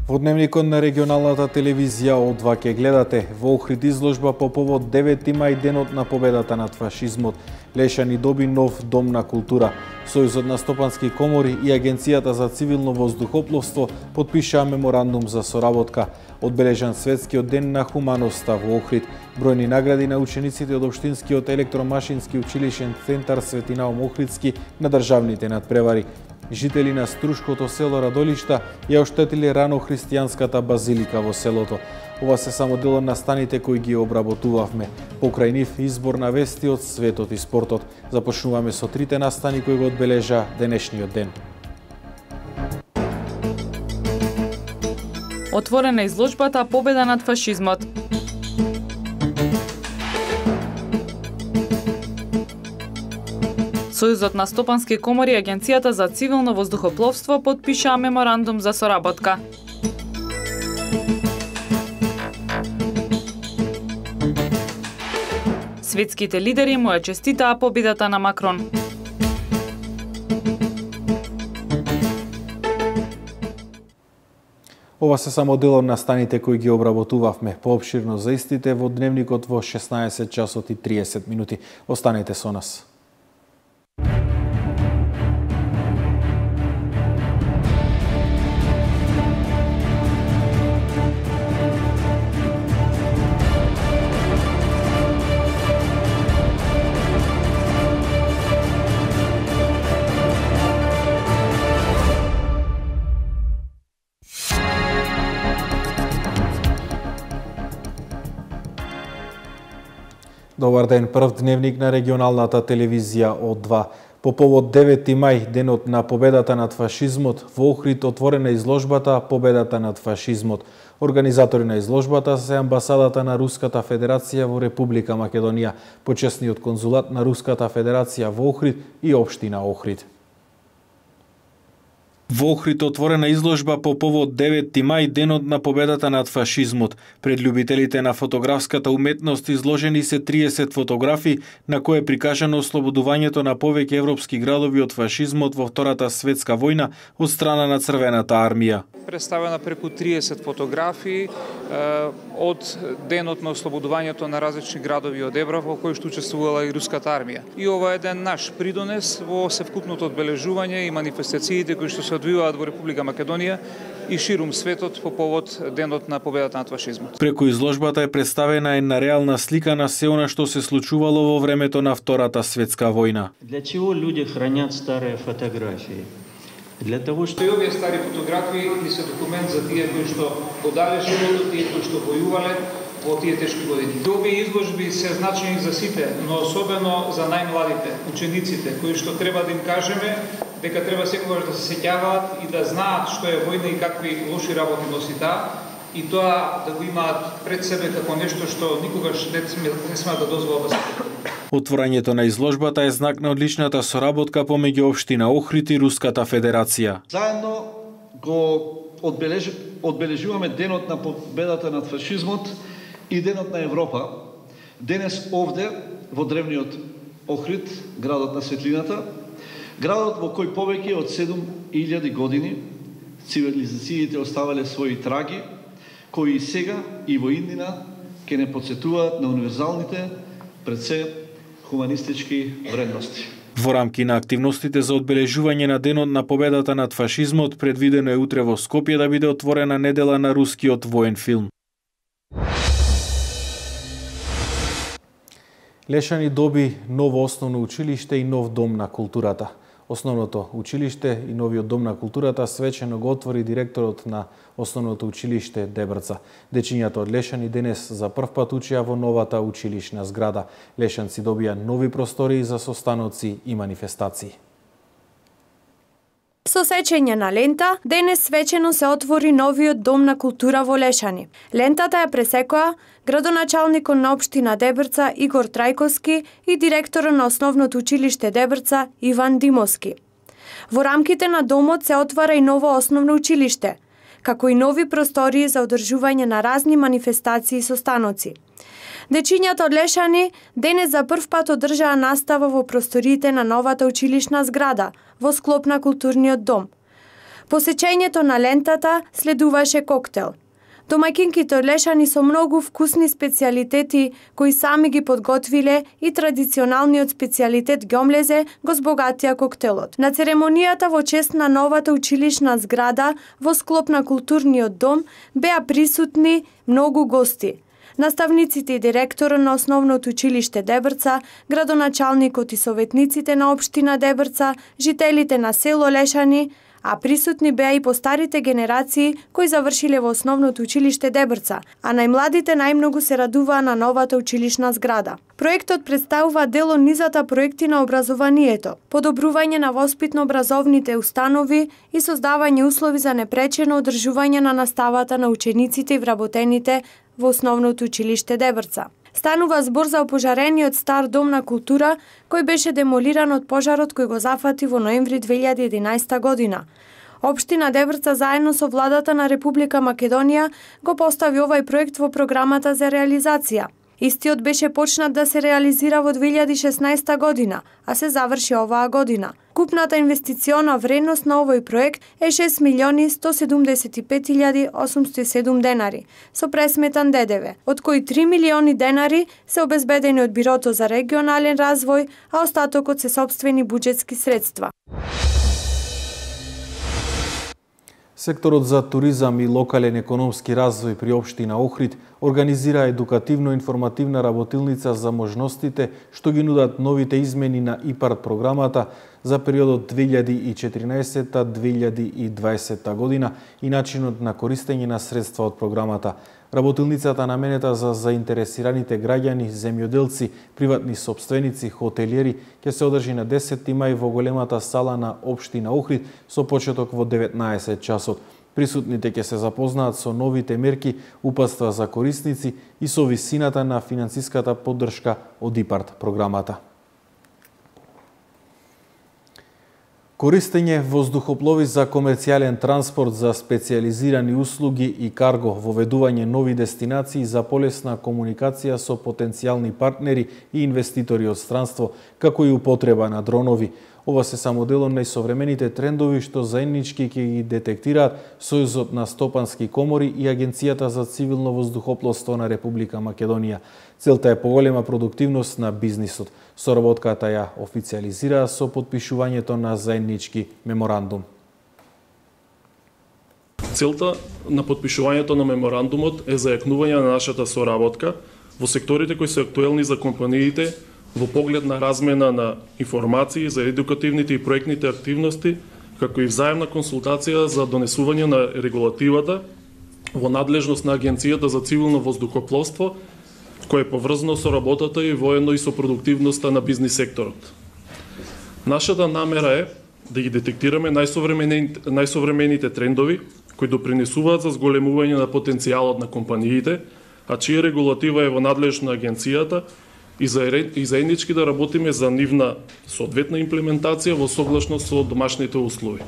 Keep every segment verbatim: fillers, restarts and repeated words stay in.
Во дневникот на регионалната телевизија О два ќе гледате во Охрид изложба по повод девети мај, денот на победата над фашизмот. Лешани доби нов дом на култура. Сојузот на стопански комори и Агенцијата за цивилно воздухопловство потпишаа меморандум за соработка. Одбележан светскиот ден на хуманоста во Охрид. Бројни награди на учениците од Општинскиот електромашински училишен центар Свети Наум Охридски на државните надпревари. Жители на Струшкото село Радолишта ја оштетиле рано христијанската базилика во селото. Ова се само дел од настаните кои ги обработувавме. Покрај нив избор на вести од светот и спортот. Започнуваме со трите настани кои го одбележа денешниот ден. Отворена изложбата Победа над фашизмот. Сојузот на стопански комори и Агенцијата за цивилно воздухопловство потпишаа меморандум за соработка. Светските лидери му ја честитаа победата на Макрон. Ова се само дел од настаните кои ги обработувавме. Поопширно за истите во дневникот во шеснаесет часот и триесет минути. Останете со нас. Добар ден, прв дневник на регионалната телевизија О два. По повод девети мај, денот на победата над фашизмот, во Охрид отворена изложбата Победата над фашизмот. Организатори на изложбата се амбасадата на Руската Федерација во Република Македонија, почесниот конзулат на Руската Федерација во Охрид и општина Охрид. Во Охрид отворена изложба по повод девети мај, денот на победата над фашизмот. Пред љубителите на фотографската уметност изложени се триесет фотографии на кои е прикажано ослободувањето на повеќе европски градови од фашизмот во Втората светска војна од страна на Црвената армија. Представена преку триесет фотографии од денот на ослободувањето на различни градови од Европа во кои што учествувала и руската армија. И ова е еден наш придонес во севкупното одбележување и манифестациите кои што се одвиваат во Република Македонија и ширум светот по повод денот на победата над фашизмот. Преку изложбата е представена една реална слика на се она што се случувало во времето на Втората светска војна. Для чего луѓе хранат стари фотографии? Для того што и овие стари фотографии ни се документ за тие кои што одале животот, тие кои што војувале во тие тешки години. Овие изложби се значени за сите, но особено за најмладите, учениците, кои што треба да им кажеме дека треба секогаш да се сеќаваат и да знаат што е војна и какви лоши работи носи таа, и тоа да го имаат пред себе како нешто што никогаш не смеат да дозволат да се повтори. Отворањето на изложбата е знак на одличната соработка помеѓу општина Охрид и Руската Федерација. Заедно го одбележ... одбележуваме денот на победата над фашизмот и денот на Европа. Денес овде во древниот Охрид, градот на светлината, градот во кој повеќе од седум илјади години цивилизациите оставале своји траги, кои и сега и во иднина ќе не потсетуваат на универзалните, пред се, хуманистички вредности. Во рамки на активностите за одбележување на денот на победата над фашизмот, предвидено е утре во Скопје да биде отворена недела на рускиот воен филм. Лешани доби ново основно училиште и нов дом на културата. Основното училиште и новиот дом на културата свечено го отвори директорот на Основното училиште Дебрца. Дечињата од Лешани денес за прв пат учеа во новата училишна зграда. Лешанци добија нови простории за состаноци и манифестации. Со сечење на лента, денес свечено се отвори новиот дом на култура во Лешани. Лентата ја пресекоа градоначалникот на општина Дебрца Игор Трајковски и директорот на Основното училиште Дебрца Иван Димовски. Во рамките на домот се отвара и ново основно училиште, како и нови простории за одржување на разни манифестации и состаноци. Дечињата од Лешани денес за прв пат одржаа настава во просториите на новата училишна зграда во склоп на културниот дом. посеќањето на лентата следуваше коктел. Домаќинките од Лешани со многу вкусни специјалитети кои сами ги подготвиле и традиционалниот специјалитет ѓомлезе го збогатија коктелот. На церемонијата во чест на новата училишна зграда во склоп на културниот дом беа присутни многу гости. Наставниците и директорот на Основното училиште Дебрца, градоначалникот и советниците на општина Дебрца, жителите на село Лешани, а присутни беа и постарите генерации кои завршиле во Основното училиште Дебрца, а најмладите најмногу се радуваа на новата училишна зграда. Проектот представува дел од низата проекти на образованието, подобрување на воспитно-образовните установи и создавање услови за непречено одржување на наставата на учениците и вработените во Основното училиште Дебрца. Станува збор за опожарениот стар дом на култура кој беше демолиран од пожарот кој го зафати во ноември две илјади и единаесета година. Општина Дебрца заедно со владата на Република Македонија го постави овај проект во програмата за реализација. Истиот беше почнат да се реализира во две илјади и шеснаесета година, а се заврши оваа година. Купната инвестициона вредност на овој проект е шест милиони сто седумдесет и пет илјади осумсто и седум денари, со пресметан ДДВ, од кои три милиони денари се обезбедени од Бирото за регионален развој, а остатокот се сопствени буџетски средства. Секторот за туризам и локален економски развој при општина Охрид организира едукативно-информативна работилница за можностите што ги нудат новите измени на ИПАРД програмата за периодот две илјади и четиринаесета до две илјади и дваесета година и начинот на користење на средства од програмата. Работилницата наменета за заинтересираните граѓани, земјоделци, приватни сопственици, хотелиери ќе се одржи на десети мај во големата сала на општина Охрид со почеток во деветнаесет часот. Присутните ќе се запознаат со новите мерки, упатства за корисници и со висината на финансиската поддршка од ИПАРД програмата. Користење воздухоплови за комерцијален транспорт за специјализирани услуги и карго, воведување нови дестинации за полесна комуникација со потенцијални партнери и инвеститори од странство, како и употреба на дронови. Ова се само дел од најсовремените трендови што заеднички ќе ги детектираат Сојузот на стопански комори и Агенцијата за цивилно воздухопловство на Република Македонија. Целта е поголема продуктивност на бизнисот. Соработката ја официализираа со потпишувањето на заеднички меморандум. Целта на потпишувањето на меморандумот е зајакнување на нашата соработка во секторите кои се актуелни за компаниите во поглед на размена на информации за едукативните и проектните активности, како и взаемна консултација за донесување на регулативата во надлежност на Агенцијата за цивилно воздухопловство, кој е поврзано со работата и воедно и со продуктивноста на бизнис секторот. Нашата намера е да ги детектираме најсовремените, најсовремените трендови кои допринесуваат за зголемување на потенцијалот на компаниите, а чија регулатива е во надлежност на Агенцијата, и заеднички да работиме за нивна соодветна имплементација во согласност со домашните услови.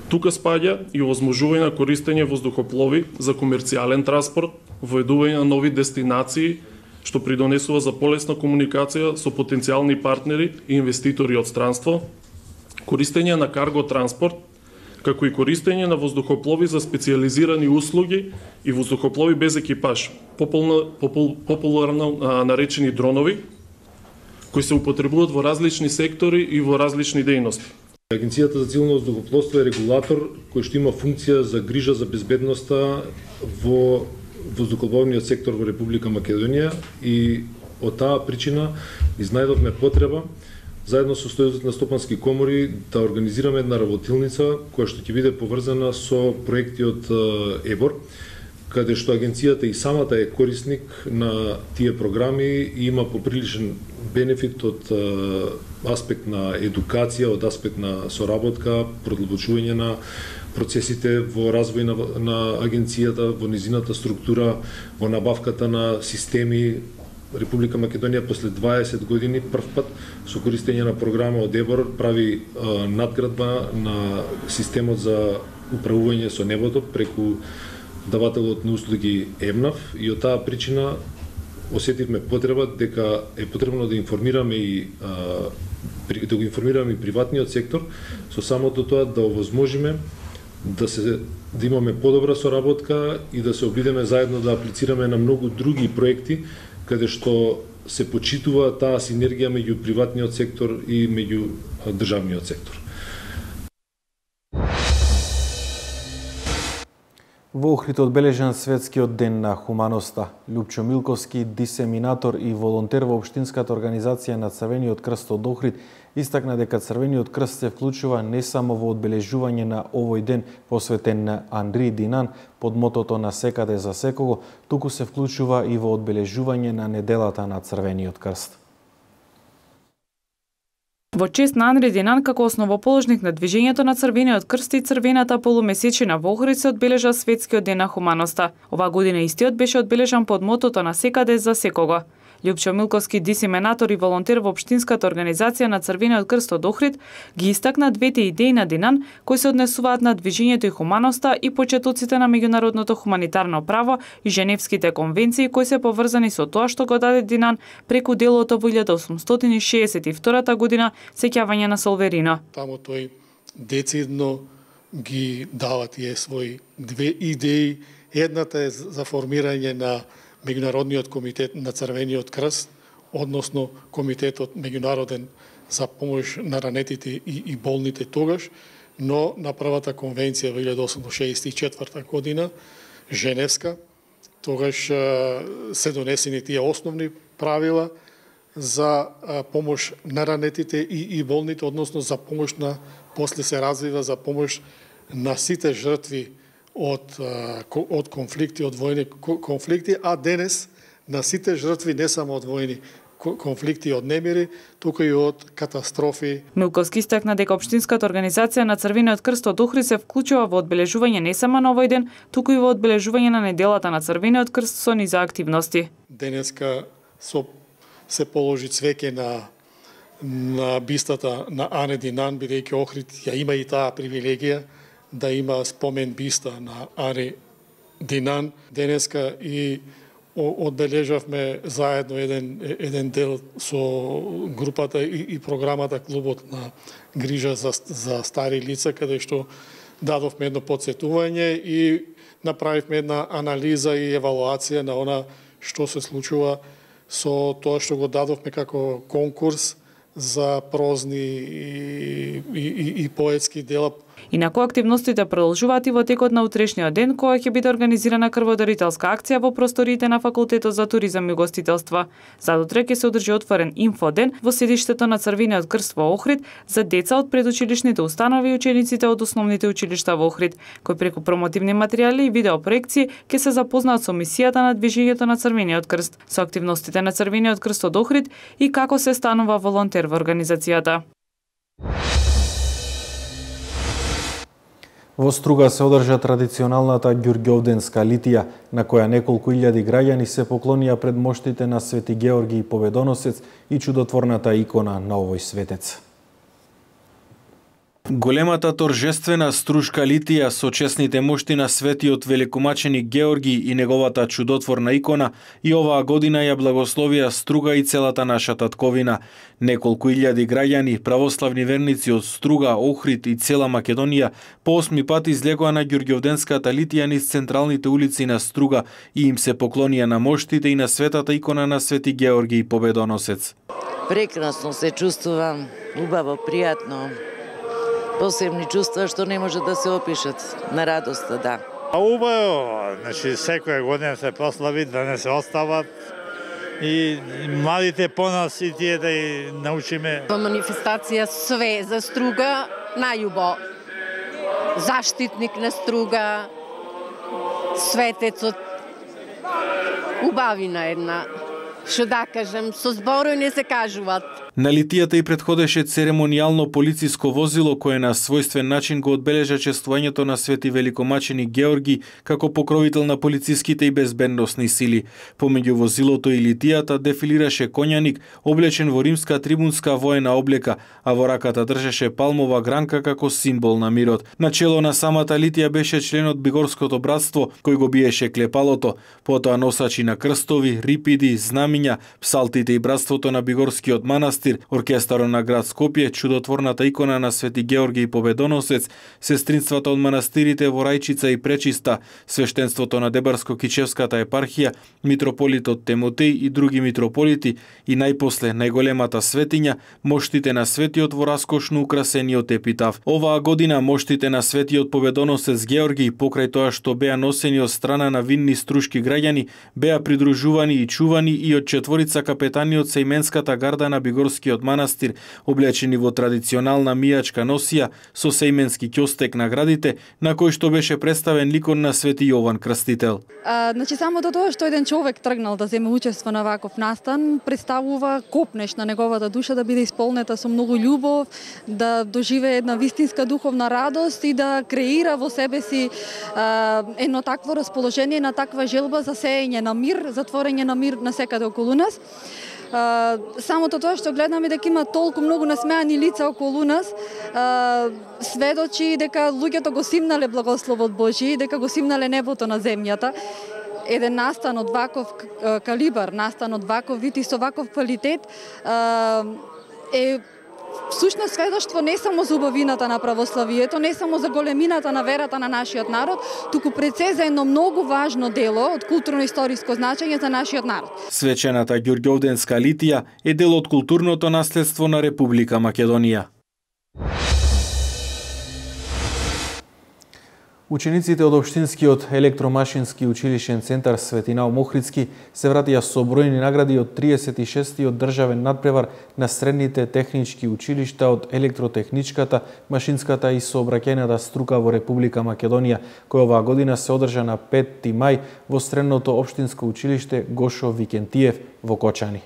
Тука спаѓа и овозможување на користење воздухоплови за комерцијален транспорт, воведување на нови дестинации, што придонесува за полесна комуникација со потенцијални партнери и инвеститори од странство, користење на карго транспорт, како и користење на воздухоплови за специјализирани услуги и воздухоплови без екипаж, популно, попул, популарно а, наречени дронови, кои се употребуваат во различни сектори и во различни дејности. Агенцијата за цивилно воздухопловство е регулатор кој што има функција за грижа за безбедноста во воздухопловниот сектор во Република Македонија и од таа причина изнајдовме потреба заедно со Сојузот на стопански комори да организираме една работилница која што ќе биде поврзана со проекти од ЕБОР, каде што агенцијата и самата е корисник на тие програми и има поприличен бенефит од аспект на едукација, од аспект на соработка, продолбочување на процесите во развој на, на агенцијата, во низината структура, во набавката на системи. Република Македонија после дваесет години прв пат со користење на програма од ЕБОР прави а, надградба на системот за управување со небото преку давателот на услуги ЕМНАФ и од таа причина осетивме потреба дека е потребно да информираме и а, да го информираме и приватниот сектор со самото тоа да овозможиме да се да имаме подобра соработка и да се обидеме заедно да аплицираме на многу други проекти каде што се почитува таа синергија меѓу приватниот сектор и меѓу државниот сектор. Во Охрид одбележан светскиот ден на хуманоста. Лјупчо Милковски, дисеминатор и волонтер во Општинската организација на Црвениот крст од Охрид, истакна дека Црвениот крст се вклучува не само во одбележување на овој ден посветен на Анри Динан под мотото на секаде за секого, туку се вклучува и во одбележување на неделата на Црвениот крст. Во чест на Анри Динан како основоположник на движењето на Црвениот крст и црвената полумесечина во Охрид се одбележа светскиот ден на хуманоста. Оваа година истиот беше одбележан под мотото на секаде за секого. Лјупчо Милковски, дисеминатор и волонтер во Општинската организација на Црвениот крст од Охрид, ги истакна двете идеи на Динан кои се однесуваат на движењето и хуманоста и почетоците на меѓународното хуманитарно право и Женевските конвенции кои се поврзани со тоа што го даде Динан преку делото во илјада осумстотини и шеесет и втора година сеќавање на Солверино. Таму тој децидно ги дава тие своји две идеи. Едната е за формирање на Меѓународниот комитет на Црвениот крст, односно Комитетот меѓународен за помош на ранетите и, и болните тогаш, но на првата конвенција во илјада осумстотини шеесет и четврта година, Женевска, тогаш се донесени тие основни правила за помош на ранетите и, и болните, односно за помош на, после се развива за помош на сите жртви од, од конфликти, од војни конфликти, а денес на сите жртви не само од војни конфликти и од немири, туку и од катастрофи. Милковски истакна дека Општинската организација на Црвениот крст од Охрид се вклучува во одбележување не само на овој ден, туку и во одбележување на неделата на Црвениот крст со низа активности. Денеска со се положи цвеќе на на бистата на Ане Динан, бидејќи Охрид ја има и таа привилегија да има спомен биста на Ане Динан. Денеска и одбележавме заедно еден еден дел со групата и, и програмата Клубот на грижа за, за стари лица, каде што дадовме едно подсетување и направивме една анализа и евалуација на она што се случува со тоа што го дадовме како конкурс за прозни и, и, и, и поетски дела. Инаку активностите продолжуваат и во текот на утрешниот ден, кога ќе биде организирана крводарителска акција во просториите на Факултетот за туризам и гостителство. Задутре ќе се одржи отворен инфоден во седиштето на Црвениот крст во Охрид за деца од предучилишните установи и учениците од основните училишта во Охрид, кои преку промотивни материјали и видеопроекции ќе се запознаат со мисијата на движењето на Црвениот крст, со активностите на Црвениот крст од Охрид и како се станува волонтер во организацијата. Во Струга се одржа традиционалната ѓурѓовденска литија, на која неколку илјади граѓани се поклонија пред моштите на Свети Георги Победоносец и чудотворната икона на овој светец. Големата торжествена струшка литија со чесните мошти на светиот великомаченик Георги и неговата чудотворна икона и оваа година ја благословија Струга и целата наша татковина. Неколку илјади граѓани, православни верници од Струга, Охрид и цела Македонија по осми пат излегоа на ѓурѓовденската литија низ централните улици на Струга и им се поклонија на моштите и на светата икона на Свети Георги Победоносец. Прекрасно се чувствувам, убаво, пријатно. Посебни чувства што не може да се опишат, на радоста, да. Убаво, значи секоја година се прослави, да не се остават и младите по нас и тие да и научиме. Во манифестација све за Струга, најубо. Заштитник на Струга, светецот, убавина една. Што да кажем, со зборови не се кажуваат. На литијата и предходеше церемонијално полициско возило кое на својствен начин го одбележа чествувањето на Свети великомаченик Георги како покровител на полициските и безбедносни сили. Помеѓу возилото и литијата дефилираше коњаник облечен во римска трибунска воена облека, а во раката држеше палмова гранка како символ на мирот. Начело на самата литија беше членот Бигорското братство кој го биеше клепалото, потоа носачи на крстови, рипиди, знамиња, псалтите и братството на Бигорскиот манастир, манастир, оркестарот на град Скопје, чудотворната икона на Свети Георгиј Победоносец, сестринствата од манастирите во Рајчица и Пречиста, свештенството на Дебарско-Кичевската епархија, митрополитот Темотеј и други митрополити и најпосле најголемата светиња, моштите на светиот во раскошно украсениот епитаф. Оваа година моштите на Светиот Победоносец Георгиј, покрај тоа што беа носени од страна на винни струшки граѓани, беа придружувани и чувани и од четворица капетани од Сејменската гарда на Бигорскиот манастир, облечени во традиционална мијачка носија со сејменски ќостек на градите, на кој што беше представен ликот на Свети Јован Крстител. А, значи самото тоа што еден човек тргнал да земе учество на ваков настан представува копнеш на неговата душа да биде исполнета со многу љубов, да доживее една вистинска духовна радост и да креира во себе си а, едно такво расположение, на таква желба за сеење на мир, за творење на мир на секаде околу нас. Uh, самото тоа што гледаме дека има толку многу насмеани лица околу нас, uh, сведочи дека луѓето го симнале благословот Божи, дека го симнале небото на земјата. Еден настан од ваков калибар, настан од ваков вид и со ваков квалитет uh, е всушност сведоштво не само за убавината на православието, не само за големината на верата на нашиот народ, туку пред се за едно многу важно дело од културно-историско значење за нашиот народ. Свечената Ѓурѓовденска литија е дел од културното наследство на Република Македонија. Учениците од Општинскиот електромашински училишен центар Светинал Мохридски се вратија со бројни награди од триесет и шестиот државен надпревар на средните технички училишта од електротехничката, машинската и сообраќајната струка во Република Македонија, која оваа година се одржа на петти мај во средното општинско училиште Гошо Викентиев во Кочани.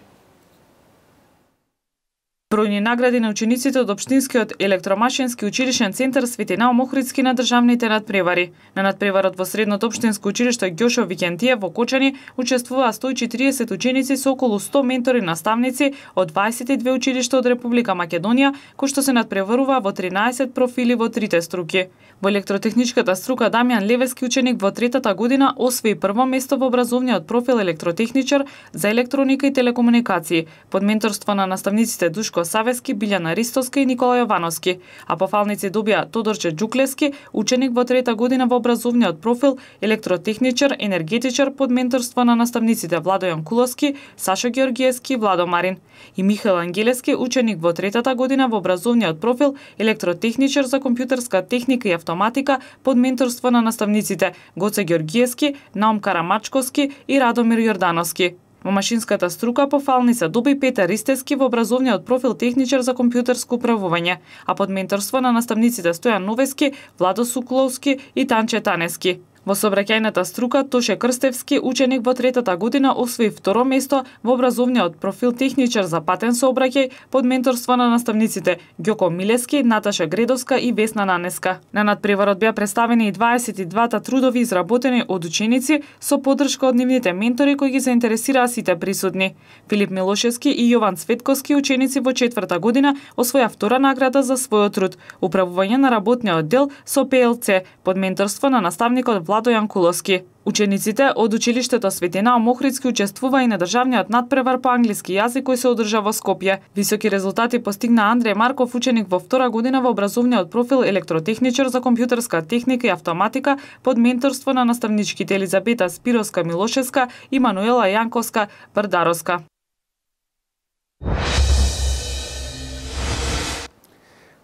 Бројни награди на учениците од Општинскиот електромашински училишен центар Светинал Мохридски на државните надпревари. На надпреварот во средното општинско училиште Ѓошо Викентиев во Кочани учествуваа сто и четириесет ученици со околу сто ментори наставници од дваесет и две училишта од Република Македонија, кои што се надпреваруваа во тринаесет профили во трите струки. Во електротехничката струка Дамјан Левески, ученик во третата година, освои прво место во образовниот профил електротехничар за електроника и телекомуникации, под менторство на наставниците Душко Савески, Билјана Ристовска и Никола Јовановски, а пофалници добија Тодорче Џуклевски, ученик во трета година во образовниот профил електротехничар, енергетичар, под менторство на наставниците Владо Јанкуловски, Сашо Георгиевски и Владо Марин, и Михаил Ангелески, ученик во третата година во образовниот профил електротехничар за компјутерска техника и автоматика, под менторство на наставниците Гоце Георгиевски, Наум Карамачковски и Радомир Јордановски. Во машинската струка пофалница доби Петар Ристевски во образовниот профил техничар за компјутерско управување, а под менторство на наставниците Стојан Новески, Владо Сукуловски и Танче Танески. Во сообраќајната струка Тоше Крстевски, ученик во третата година, освои второ место во образовниот профил техничар за патен сообраќај, под менторство на наставниците Ѓоко Милески, Наташа Гредовска и Весна Нанеска. На надпреварот беа представени и дваесет и двата трудови изработени од ученици со поддршка од нивните ментори кои ги заинтересираа сите присутни. Филип Милошевски и Јован Цветковски, ученици во четврта година, освоја втора награда за својот труд, управување на работниот дел со Пе Ел Це, под менторство на наставникот Владо Јанкуловски. Учениците од училиштето Светинал Мохридски учествува и на државниот надпревар по англиски јазик кој се одржа во Скопје. Високи резултати постигна Андреј Марков, ученик во втора година во образовниот профил електротехничар за компјутерска техника и автоматика, под менторство на наставничките Елизабета Спироска Милошевска и Мануела Јанковска Бардаровска.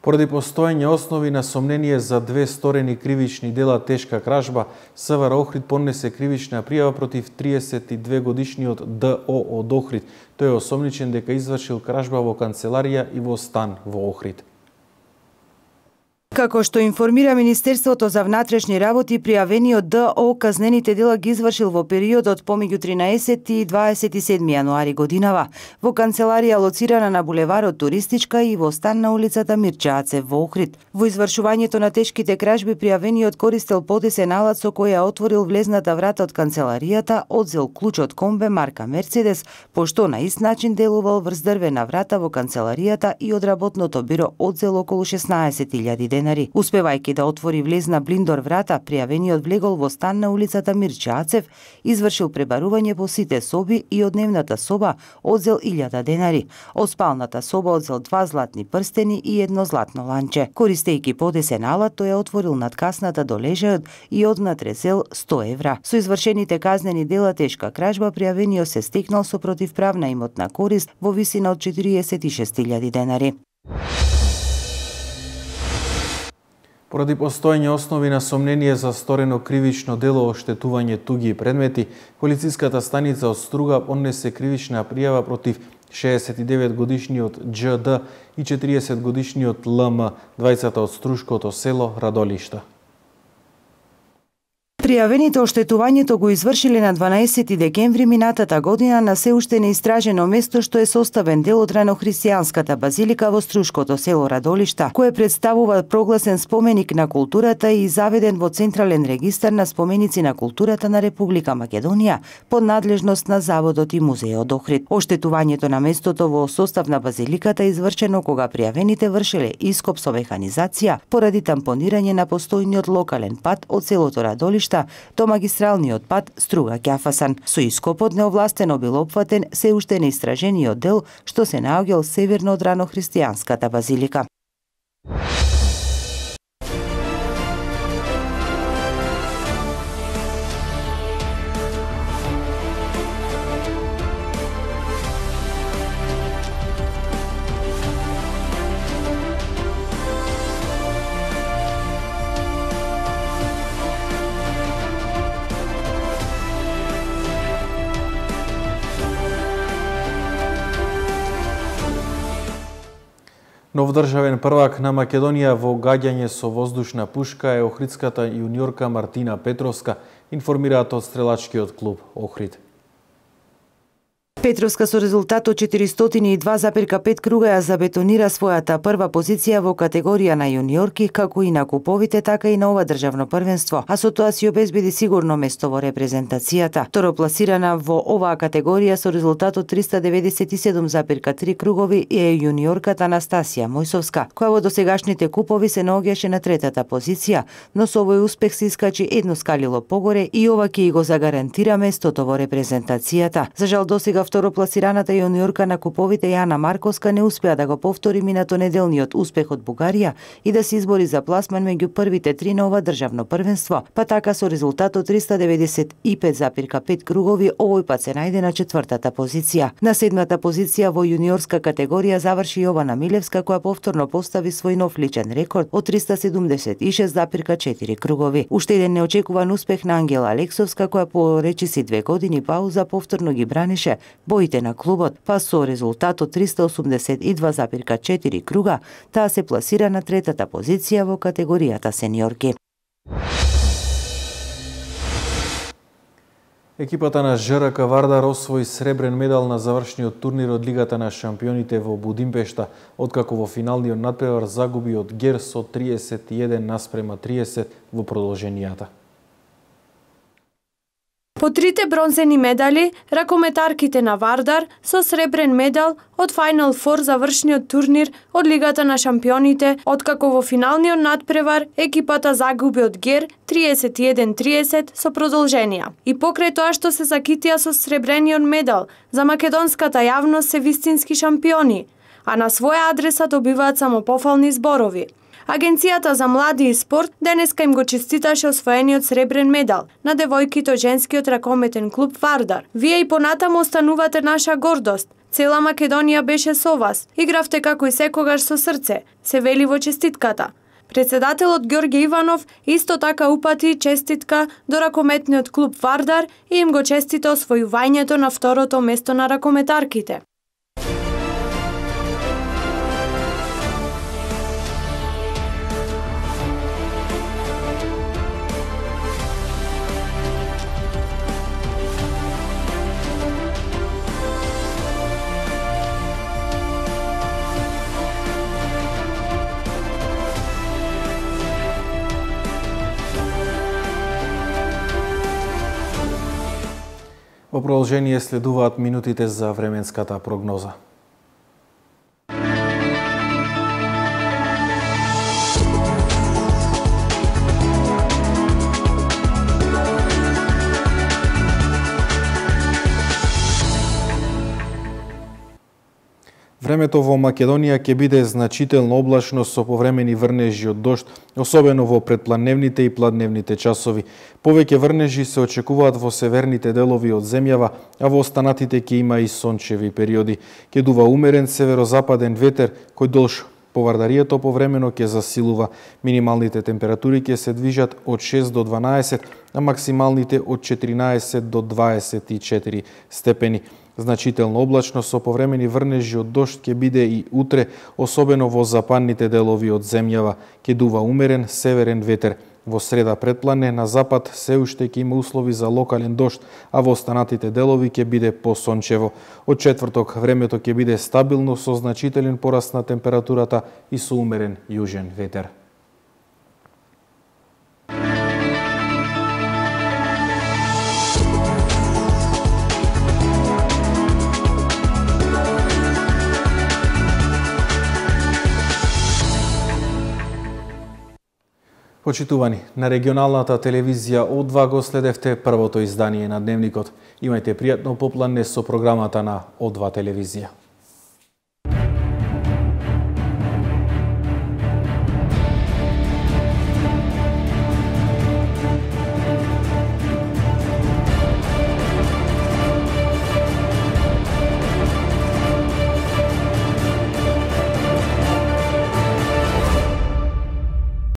Поради постоење основи на сомнение за две сторени кривични дела тешка кражба, СВР Охрид поднесе кривична пријава против триесет и две годишниот Д О од Охрид. Тој е осомничен дека извршил кражба во канцеларија и во стан во Охрид. Како што информира Министерството за внатрешни работи, пријавениот Д О казнените дела ги извршил во периодот помеѓу тринаесети и дваесет и седми јануари годинава, во канцеларија лоцирана на булеварот Туристичка и во стан на улицата Мирча Ацев во Охрид. Во извршувањето на тешките кражби пријавениот користел потесен алат со која отворил влезната врата од канцеларијата, одзел клуч од комбе марка Мерцедес, пошто на ист начин делувал врз дрвена врата во канцеларијата и од работното биро одзел околу шеснаесет илјади денара. денари. Успевајќи да отвори влезна блиндор врата, пријавениот влегол во стан на улицата Мирче Ацев, извршил пребарување по сите соби и од дневната соба одзел илјада денари. Од спалната соба одзел два златни прстени и едно златно ланче. Користејќи подесен алат, тој ја отворил надкасната до лежајот и однатре зел сто евра. Со извршените казнени дела тешка кражба, пријавениот се стекнал со противправна имотна корист во висина од четириесет и шест илјади денари. Поради постоење основи на сомнение за сторено кривично дело оштетување туги предмети, полициската станица од Струга поднесе кривична пријава против шеесет и девет годишниот Џ Д и четириесет годишниот Л М, двајцата од струшкото село Радолишта. Пријавените оштетувањето го извршиле на дванаесети декември минатата година на се уште неистражено место што е составен дел од ранохристијанската базилика во струшкото село Радолишта, кое представува прогласен споменик на културата и заведен во Централен регистар на споменици на културата на Република Македонија под надлежност на Заводот и Музејот Охрид. Оштетувањето на местото во состав на базиликата е извршено кога пријавените вршеле ископ со механизација поради тампонирање на постојниот локален пат од селото Радолишта до магистралниот пат Струга-Ќафасан. Со ископот неовластено бил опфатен се уште неистражениот дел што се наоѓал северно од ранохристијанската базилика. Нов државен првак на Македонија во гаѓање со воздушна пушка е охридската јуниорка Мартина Петровска, информираат од стрелачкиот клуб Охрид. Петровска со резултат од четиристотини и два запирка пет круга ја забетонира својата прва позиција во категорија на јуниорки, како и на куповите, така и на ова државно првенство, а со тоа си обезбеди сигурно место во репрезентацијата. Второпласирана во оваа категорија со резултат од триста деветдесет и седум запирка три кругови е јуниорката Анастасија Мојсовска, која во досегашните купови се наоѓаше на третата позиција, но со овој успех се искачи едно скалило погоре и ова ќе го загарантира местото во репрезентацијата. За жал досега второпласираната јуниорка на куповите Јана Марковска не успеа да го повтори минато неделниот успех од Бугарија и да се избори за пласман меѓу првите три на ова државно првенство, па така со резултат од триста деветдесет и пет запирка пет кругови овој пат се најде на четвртата позиција. На седмата позиција во јуниорска категорија заврши Јована Милевска, која повторно постави свој нов личен рекорд од триста седумдесет и шест запирка четири кругови. Уште еден неочекуван успех на Ангела Алексовска, која по речиси две години пауза повторно ги бранеше боите на клубот, па со резултат од триста осумдесет и два запирка четири круга, таа се пласира на третата позиција во категоријата сениорки. Екипата на Ж Р К Вардар освои сребрен медал на завршниот турнир од Лигата на шампионите во Будимпешта, откако во финалниот надпревар загуби од Гер со триесет и еден наспрема триесет во продолженијата. По трите бронзени медали, ракометарките на Вардар со сребрен медал од Final Four завршниот турнир од Лигата на шампионите, откако во финалниот надпревар екипата загуби од Гер триесет и еден триесет со продолженија. И покрај тоа што се закитија со сребрениот медал, за македонската јавност се вистински шампиони, а на своја адреса добиваат само пофални зборови. Агенцијата за млади и спорт денеска им го честиташе освоениот сребрен медал на девојките од женскиот ракометен клуб Вардар. Вие и понатаму останувате наша гордост. Цела Македонија беше со вас. Игравте како и секогаш со срце, се вели во честитката. Председателот Ѓорѓе Иванов исто така упати честитка до ракометниот клуб Вардар и им го честита освојувањето на второто место на ракометарките. Во продолжение следуваат минутите за временската прогноза. Времето во Македонија ќе биде значително облачно со повремени врнежи од дожд, особено во предпладневните и пладневните часови. Повеќе врнежи се очекуваат во северните делови од земјава, а во останатите ќе има и сончеви периоди. Ќе дува умерен северозападен ветер кој долж повардарието повремено ќе засилува. Минималните температури ќе се движат од шест до дванаесет, а максималните од четиринаесет до дваесет и четири степени. Значително облачно со повремени врнежи од дожд ќе биде и утре, особено во западните делови од земјава. Ќе дува умерен северен ветер. Во среда претплане на запад се уште ќе има услови за локален дожд, а во останатите делови ќе биде посончево. Од четврток времето ќе биде стабилно со значителен пораст на температурата и со умерен јужен ветер. Почитувани, на регионалната телевизија О два го следевте првото издание на Дневникот. Имајте пријатно попладне со програмата на О два телевизија.